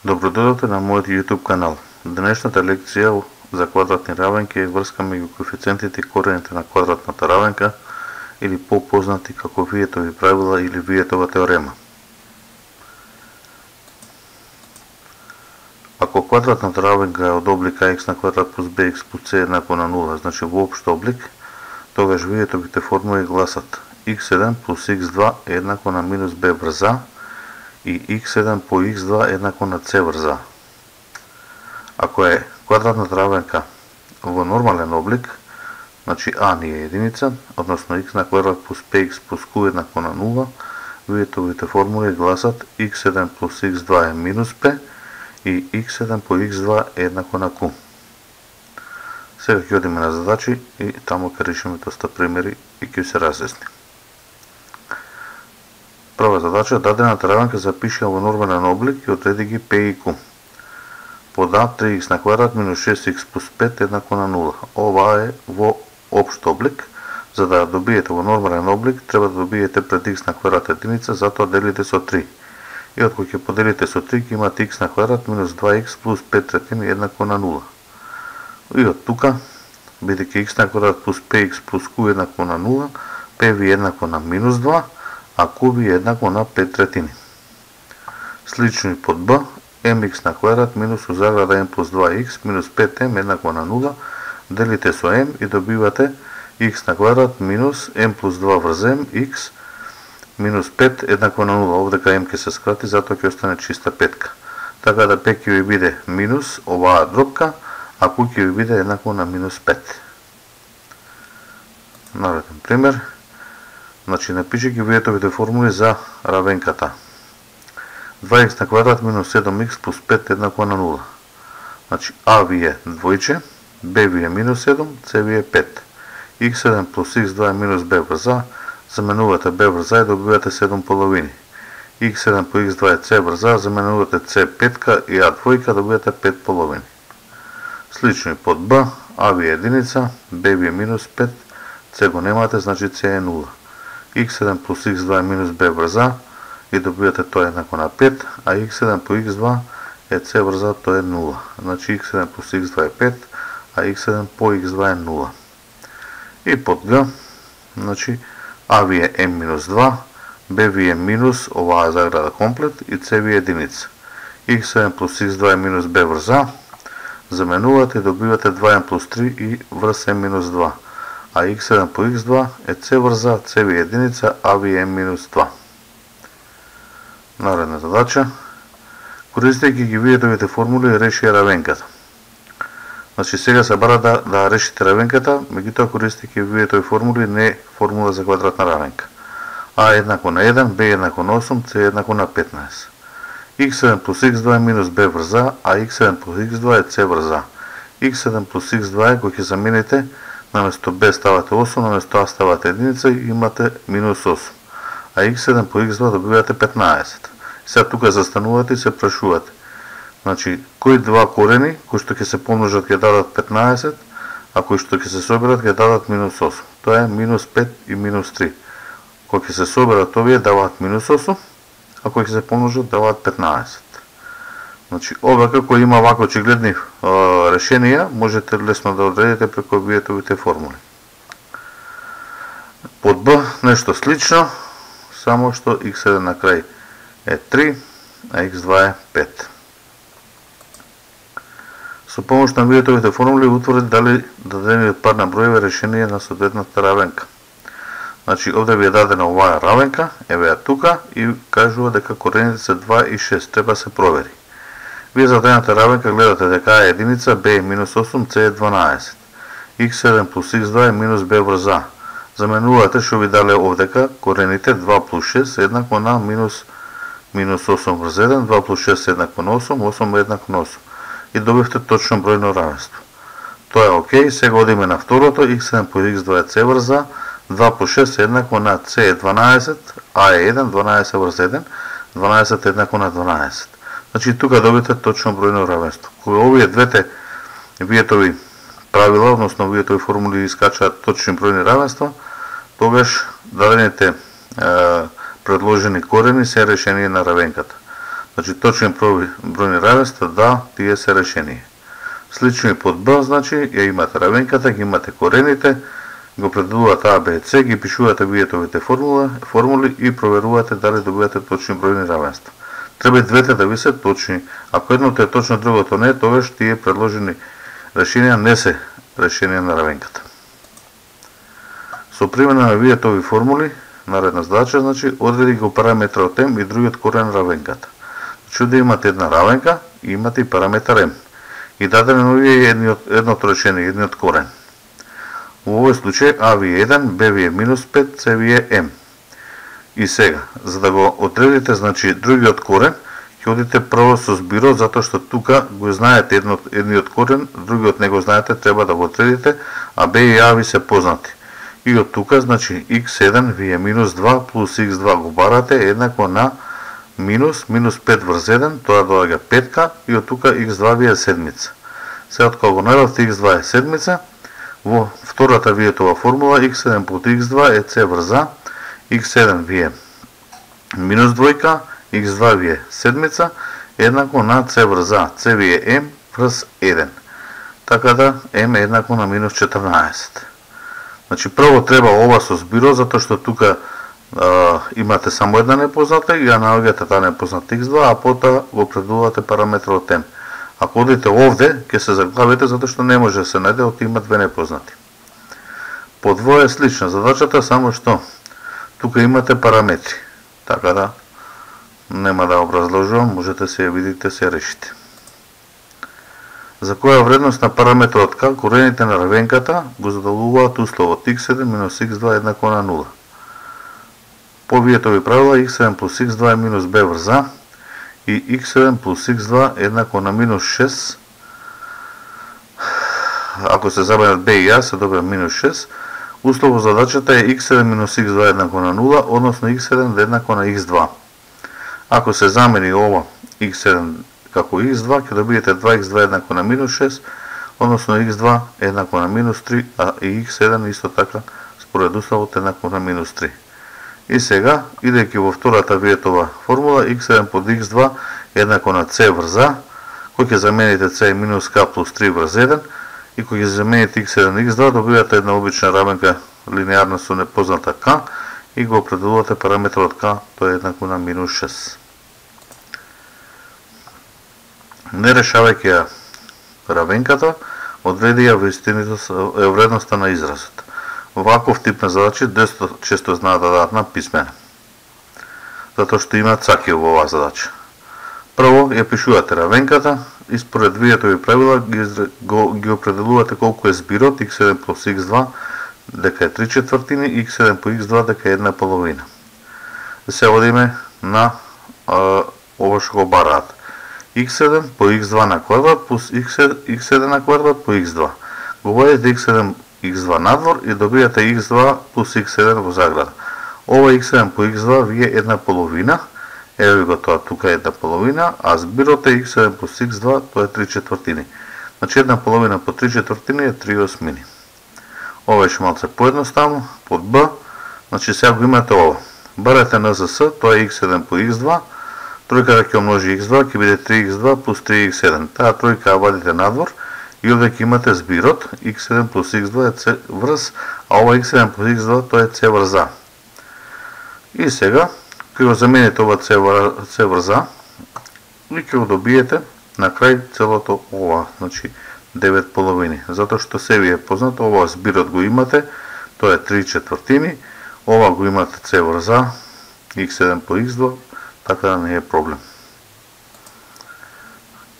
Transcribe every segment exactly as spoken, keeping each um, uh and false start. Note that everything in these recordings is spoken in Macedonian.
Добродојдовте на мојот YouTube канал. Денешната лекција за квадратни равенки е врска меѓу коефициентите и корените на квадратната равенка, или попознати како Виетови правила или Виетова теорема. Ако квадратната равенка е од облика x на квадрат плюс bx плюс c еднакво на нула, значи во општ облик, тогаш Виетовите формули гласат икс еден плюс икс два е еднакво на минус b врз a и икс еден по икс два е еднакво на c врз a. Ако е квадратната равенка во нормален облик, значи a ни е единица, односно x на квадрат плюс px плюс q еднакво на нула, Виетовите формули гласат икс еден плюс икс два е минус p и икс еден по икс два е еднакво на q. Сега ќе одиме на задачи и таму ќе решиме доста примери и ќе се разјасни. Прва задача, дадената равенка запиши во нормален облик и одреди ги p и q. Под а три икс на квадрат минус шест икс плюс пет еднакво на нула. Ова е во општ облик. За да добиете во нормален облик, треба да добиете пред x на квадрат единица, затоа делите со три. И од кој ќе поделите со три, ќе имате x на квадрат минус два икс плюс пет третини еднакво на нула. И од тука, бидејќи x на квадрат плюс px плюс q еднакво на нула, p ви еднакво на минус два, а q ви еднакво на пет третини. Слично и под b, mx на квадрат минус у заграда m плюс два икс минус пет ем еднакво на нула, делите со m и добивате x на квадрат минус m плюс два врз m, x минус пет еднакво на нула. Овдека m ќе се скрати, затоа ќе остане чиста петка. Така да p ќе ви биде минус оваа дробка, а q ќе ви биде еднакво на минус пет. Нареден пример. Значи, напиши ги Виетовите формули за равенката. два икс на квадрат минус седум икс плюс пет еднакво на нула. Значи, а ви е двојче, b ви е минус седум, c ви е пет. икс еден плюс икс два е минус b врз a, заменувате b врз a и добивате седум половини. икс еден по икс два е c врз a, заменувате c петка и a двојка, добивате пет половини. Слично и под b, a ви е единица, b ви е минус пет, c го немате, значи c е нула. икс еден плюс икс два е минус b врз a и добивате тоа еднакво на пет, а икс еден по икс два е c врз a, тоа е нула. Значи икс еден плюс икс два е пет, а икс еден по икс два е нула. И под г, значи a ви е m минус два, b ви е минус оваа заграда комплет и c ви е единица. икс еден плюс икс два е минус b врз a, заменувате и добивате два ем плюс три и врз m минус два. А икс еден по икс два е c врз a, c ви е единица, a ви е m минус два. Наредна задача. Користејќи ги Виетовите формули, реши равенката. Значи, сега се бара да, да решите равенката, меѓутоа користејќи Виетови формули, не формула за квадратна равенка. А еднакво на еден, b еднакво на осум, c еднакво на петнаесет. икс еден плюс икс два е минус b врз a, а икс еден плюс икс два е c врз a. икс еден плюс икс два е кој ќе замените, наместо b ставате осум, наместо a ставате единица и имате минус осум. А икс еден по икс два добивате петнаесет. Сега тука застанувате и се прашувате. Значи, кои два корени, кои што ќе се помножат ќе дадат петнаесет, а кои што ќе се соберат ќе дадат минус осум. Тоа е минус пет и минус три. Кои ќе се соберат овие даваат минус осум, а кои ќе се помножат даваат петнаесет. Значи, овака кој има вако очигледни е, решенија, можете лесно да одредите преку Виетовите формули. Под Б нешто слично, само што икс еден на крај е три, а икс два е пет. Со помош на Виетовите формули утврди дали дадениот пар на броеви решение на соодветната равенка. Значи, овде ви е дадена оваа равенка, еве ја тука, и кажува дека корените се два и шест, треба се провери. Вие за дадената равенка гледате дека а е единица, b е минус осум, c е дванаесет. икс еден плюс икс два е минус b врз a. Заменувате што ви дале овдека корените два плюс шест еднакво на минус минус осум врз еден, два плюс шест еднакво на осум, осум е еднакво на осум. И добивте точно бројно равенство. Тоа е окей, сега одиме на второто, икс еден по икс два е c врз a, два по шест е еднакво на c е дванаесет, a е еден, дванаесет врз еден, дванаесет е еднакво на дванаесет. Значи тука добите точно бројно равенство. Кога овие двете Виетови правила, односно Виетови формули искачаат точни бројни равенства, тогаш дадените е, предложени корени се решени на равенката. Значи точен бројни равенства, да, тие се решени. Слично и под Б, значи ја имате равенката, ги имате корените, го определувате А, Б, С, ги пишувате виетовите формули, формули и проверувате дали добивате точни бројни равенства. Треба и двете да ви се точни. Ако едното е точно, другото не, тогаш тие предложени решенија не се решенија на равенката. Со примена на виетови формули, наредна задача, значи, одреди го параметрот М и другиот корен равенката. Значи, да имате една равенка и имате и параметар М. И дадено ви е едното решение, едниот корен. Во овој случај А ви е еден, Б ви е минус пет, С ви е М. И сега, за да го одредите, значи, другиот корен, ќе одите прво со збирот, затоа што тука го знаете едно, едниот корен, другиот не го знаете, треба да го одредите, а Б и А ви се познати. И од тука, значи, икс еден ви е минус два плюс икс два го барате еднакво на минус, минус пет врз еден, тоа доаѓа петка, и од тука икс два ви е седмица. Сега, од кога го најдовте икс два е седмица, во втората виетова формула, икс еден плюс икс два е С врз А, икс еден ви е минус двојка, икс два ви е седмица, еднакво на С врз А, С ви е М врз еден. Така да, М е еднакво на минус четрнаесет. Значи, прво треба ова со збирот, затоа што тука а, имате само една непозната и ја наоѓате таа непозната икс два, а потоа го предувате параметрот М. Ако одите овде, ќе се заглавите, затоа што не може да се најде, оти има две непознати. По двое е слична задачата, само што тука имате параметри. Така да, нема да образложувам, можете се ја видите, се решите. За која вредност на параметрот К, корените на равенката го задолжуваат условот икс еден минус икс два еднакво на нула. По виетови правила, икс еден плюс икс два е минус Б врз А и икс еден плюс икс два еднакво на минус шест. Ако се забават Б и А, се добива минус шест. Условот задачата е икс еден минус икс два еднакво на нула, односно икс еден еднакво на икс два. Ако се замени ова икс еден како икс два, ќе добиете два икс два еднакво на минус шест, односно икс два еднакво на минус три, а и икс еден исто така според условот еднакво на минус три. И сега, идејќи во втората виетова формула, икс еден под икс два еднакво на С врз А, кој ќе замените С минус К плюс три врз еден, и кој ќе замените икс еден икс два, добивате една обична равенка линеарна со непозната К и го определувате параметрот К, тоа е еднакво на минус шест. Не решавајќи ја равенката, одреди ја вредноста на изразот. Ваков тип на задачи доста често знаат да дадат на писмена, затоа што имаат цаки во оваа задача. Прво ја пишувате равенката и според виетови правила ги, го, ги определувате колку е збирот икс еден плюс икс два дека е три четвртини, икс еден по икс два дека е една половина. Се одиме на а, ова што го бараат. икс еден по икс два на квадрат плюс икс еден на квадрат по икс два. Го водите икс еден икс два надвор и добијате икс два плюс икс еден во заграда. Ова икс еден по икс два ви е една половина, ево го тоа тука е една половина, а збирот е икс еден плюс икс два, тоа е три четвртини. Значи една половина по три четвртини е три осмини. Ова е малце поедноставно, под Б, значи сега го имате ова. Барате на ЗС, тоа е икс еден по икс два, тројката ќе умножи икс два, ќе биде три икс два плюс три икс еден. Таа тројка ја вадите надвор и овде ќе имате збирот икс еден плюс икс два е С врз, а ова икс еден плюс икс два тоа е С врз А. И сега, ќе го замените ова С врз А и ќе го добиете на крај целото ова, значи девет половини. Затоа што се ви е познато, ова збирот го имате, тоа е три четвртини, ова го имате С врз А, икс еден по икс два, така да не е проблем.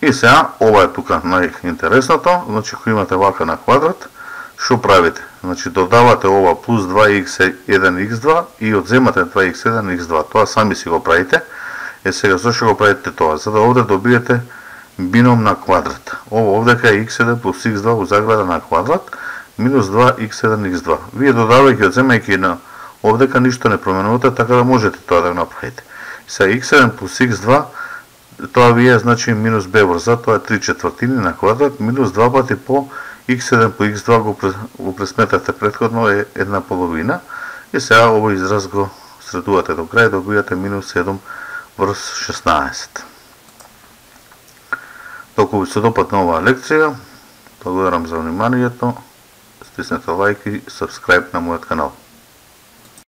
И сега, ова е тука најинтересното, значи ако имате вака на квадрат, што правите? Значи додавате ова плюс два икс еден икс два и одземате два икс еден икс два. Тоа сами си го правите. Е сега, зашто го правите тоа? За да овде добиете бином на квадрат. Ова овдека е икс еден плюс икс два во заграда на квадрат, минус два икс еден икс два. Вие додавајќи, одземајќи на овдека ништо не променувате, така да можете тоа да го направите. Сега икс еден плюс икс два, тоа ви е значи минус Б врз А, тоа е три четвртини на квадрат, минус два пати по икс еден по икс два го, го пресметате предходно е една половина. И сега овој израз го средувате до крај, добивате минус седум врз шеснаесет. Толку ви се допадна оваа лекција, благодарам за вниманието, стиснете лајк и сабскрајб на мојот канал.